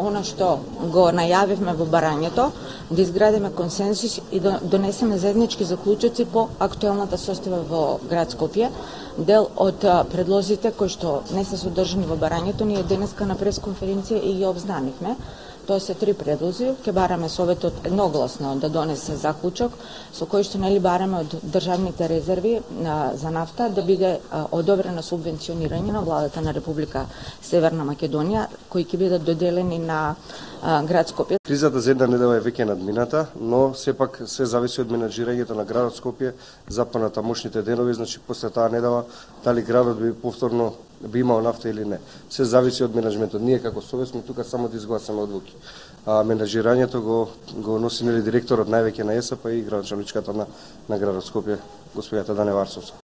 она што го најавивме во барањето, да изградиме консенсус и да донесеме заеднички заклучоци по актуелната состава во град Скопје. Дел од предлозите кои што не се содржани во барањето, ние денеска на пресконференција и ги обзнанивме. Тоа се 3 предлози. Ке бараме Советот едногласно да донесе заклучок со кој што бараме од државните резерви за нафта да биде одобрено субвенционирање на владата на Република Северна Македонија, кои ќе бидат доделени на град Скопје. Кризата за една недела е веќе надмината, но сепак се зависи од менаџирањето на градот Скопје за понатамошните денови, значи после таа недела дали градот би повторно би имал нафта или не. Се зависи од менаџментот. Ние како Совет сме тука само да изгласаме одлуки. Менаџирањето го носи директорот највеќе на ЕСП и градоначалничката на градот Скопје, господјата Дане Варсовска.